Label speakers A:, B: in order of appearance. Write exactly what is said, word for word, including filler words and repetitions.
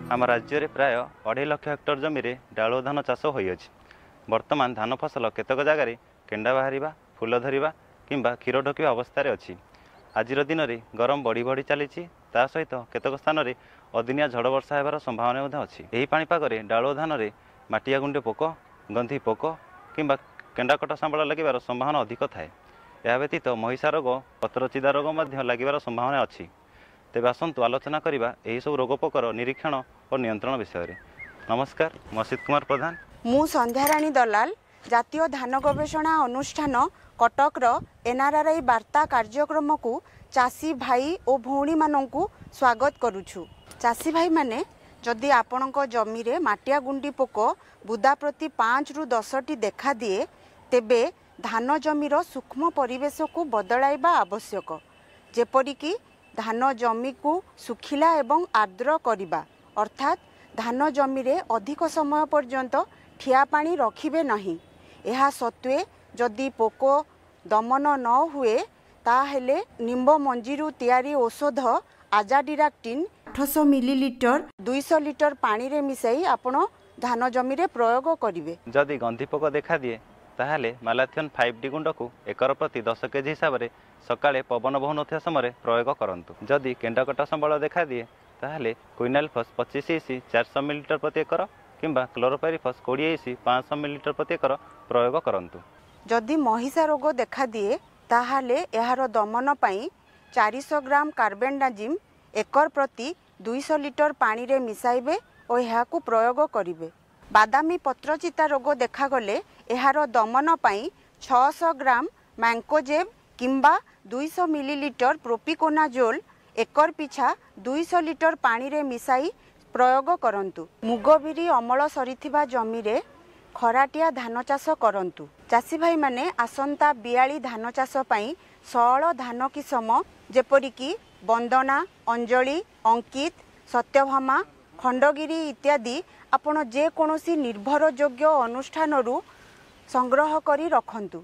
A: ଆମ ରାଜ୍ୟରେ ପ୍ରାୟ ଅଢ଼େଇ ଲକ୍ଷ ହେକ୍ଟର ଜମିରେ ଡାଳୁଅ ଧାନ ଚାଷ ହୋଇଅଛି। ବର୍ତ୍ତମାନ ଧାନ ଫସଲ କେତେକ ଜାଗାରେ କେଣ୍ଡା ବାହାରିବା, ଫୁଲ ଧରିବା କିମ୍ବା କ୍ଷୀର ଢୋକିବା ଅବସ୍ଥାରେ ଅଛି। ଆଜିର ଦିନରେ ଗରମ ବଢ଼ି ବଢ଼ି ଚାଲିଛି, ତା ସହିତ କେତେକ ସ୍ଥାନରେ ଅଦିନିଆ ଝଡ଼ ବର୍ଷା ହେବାର ସମ୍ଭାବନା ମଧ୍ୟ ଅଛି। ଏହି ପାଣିପାଗରେ ଡାଳୁଅ ଧାନରେ ମାଟିଆ ଗୁଣ୍ଡି ପୋକ, ଗନ୍ଧି ପୋକ କିମ୍ବା କେଣ୍ଡାକଟା ଶାବଳ ଲାଗିବାର ସମ୍ଭାବନା ଅଧିକ ଥାଏ। ଏହା ବ୍ୟତୀତ ମହିଷା ରୋଗ, ପତ୍ରଚିଦା ରୋଗ ମଧ୍ୟ ଲାଗିବାର ସମ୍ଭାବନା ଅଛି। ତେବେ ଆସନ୍ତୁ ଆଲୋଚନା କରିବା ଏହିସବୁ ରୋଗ ପୋକର ନିରୀକ୍ଷଣ ଓ ନିୟନ୍ତ୍ରଣ ବିଷୟରେ। ନମସ୍କାର, ମୁଁ ଅସିତ କୁମାର ପ୍ରଧାନ।
B: ମୁଁ ସନ୍ଧ୍ୟାରାଣୀ ଦଲାଲ, ଜାତୀୟ ଧାନ ଗବେଷଣା ଅନୁଷ୍ଠାନ କଟକର ଏନ୍ଆର୍ଆର୍ଆଇ ବାର୍ତ୍ତା କାର୍ଯ୍ୟକ୍ରମକୁ ଚାଷୀ ଭାଇ ଓ ଭଉଣୀମାନଙ୍କୁ ସ୍ୱାଗତ କରୁଛୁ। ଚାଷୀ ଭାଇମାନେ, ଯଦି ଆପଣଙ୍କ ଜମିରେ ମାଟିଆ ଗୁଣ୍ଡି ପୋକ ବୁଦା ପ୍ରତି ପାଞ୍ଚରୁ ଦଶଟି ଦେଖାଦିଏ, ତେବେ ଧାନ ଜମିର ସୂକ୍ଷ୍ମ ପରିବେଶକୁ ବଦଳାଇବା ଆବଶ୍ୟକ, ଯେପରିକି ଧାନ ଜମିକୁ ଶୁଖିଲା ଏବଂ ଆର୍ଦ୍ର କରିବା, ଅର୍ଥାତ୍ ଧାନ ଜମିରେ ଅଧିକ ସମୟ ପର୍ଯ୍ୟନ୍ତ ଠିଆ ପାଣି ରଖିବେ ନାହିଁ। ଏହା ସତ୍ତ୍ୱେ ଯଦି ପୋକ ଦମନ ନ ହୁଏ, ତାହେଲେ ନିମ୍ବ ମଞ୍ଜିରୁ ତିଆରି ଔଷଧ ଆଜାଡିରାକ୍ଟିନ୍ ଆଠଶହ ମିଲିଲିଟର ଦୁଇଶହ ଲିଟର ପାଣିରେ ମିଶାଇ ଆପଣ ଧାନ ଜମିରେ ପ୍ରୟୋଗ କରିବେ।
A: ଯଦି ଗନ୍ଧି ପୋକ ଦେଖାଦିଏ, ତାହେଲେ ମାଲାଥିଅନ୍ ଫାଇଭ୍ ଡି ଗୁଣ୍ଡକୁ ଏକର ପ୍ରତି ଦଶ କେଜି ହିସାବରେ ସକାଳେ ପବନ ବହୁନଥିବା ସମୟରେ ପ୍ରୟୋଗ କରନ୍ତୁ। ଯଦି କେଣ୍ଡାକଟା ସମ୍ବଳ ଦେଖାଦିଏ, ତାହେଲେ କୁଇନାଲଫସ୍ ପଚିଶ ଇସି ଚାରିଶହ ମିଲିଲିଟର ପ୍ରତି ଏକର କିମ୍ବା କ୍ଲୋରୋପାଇରିଫସ୍ କୋଡ଼ିଏ ଇସି ପାଞ୍ଚଶହ ମିଲିଲିଟର ପ୍ରତି ଏକର ପ୍ରୟୋଗ କରନ୍ତୁ।
B: ଯଦି ମହିଷା ରୋଗ ଦେଖାଦିଏ, ତାହେଲେ ଏହାର ଦମନ ପାଇଁ ଚାରିଶହ ଗ୍ରାମ କାର୍ବୋଣ୍ଡାଜିମ୍ ଏକର ପ୍ରତି ଦୁଇଶହ ଲିଟର ପାଣିରେ ମିଶାଇବେ ଓ ଏହାକୁ ପ୍ରୟୋଗ କରିବେ। ବାଦାମୀ ପତ୍ରଚିତା ରୋଗ ଦେଖାଗଲେ ଏହାର ଦମନ ପାଇଁ ଛଅଶହ ଗ୍ରାମ ମ୍ୟାଙ୍କୋଜେବ୍ କିମ୍ବା ଦୁଇଶହ ମିଲିଲିଟର ପ୍ରୋପିକୋନାଜୋଲ୍ ଏକର ପିଛା ଦୁଇଶହ ଲିଟର ପାଣିରେ ମିଶାଇ ପ୍ରୟୋଗ କରନ୍ତୁ। ମୁଗ ବିରି ଅମଳ ସରିଥିବା ଜମିରେ ଖରାଟିଆ ଧାନ ଚାଷ କରନ୍ତୁ। ଚାଷୀ ଭାଇମାନେ, ଆସନ୍ତା ବିଆଳି ଧାନ ଚାଷ ପାଇଁ ସଅଳ ଧାନ କିସମ ଯେପରିକି ବନ୍ଦନା, ଅଞ୍ଜଳି, ଅଙ୍କିତ, ସତ୍ୟଭାମା, ଖଣ୍ଡଗିରି ଇତ୍ୟାଦି ଆପଣ ଯେକୌଣସି ନିର୍ଭରଯୋଗ୍ୟ ଅନୁଷ୍ଠାନରୁ ସଂଗ୍ରହ କରି ରଖନ୍ତୁ।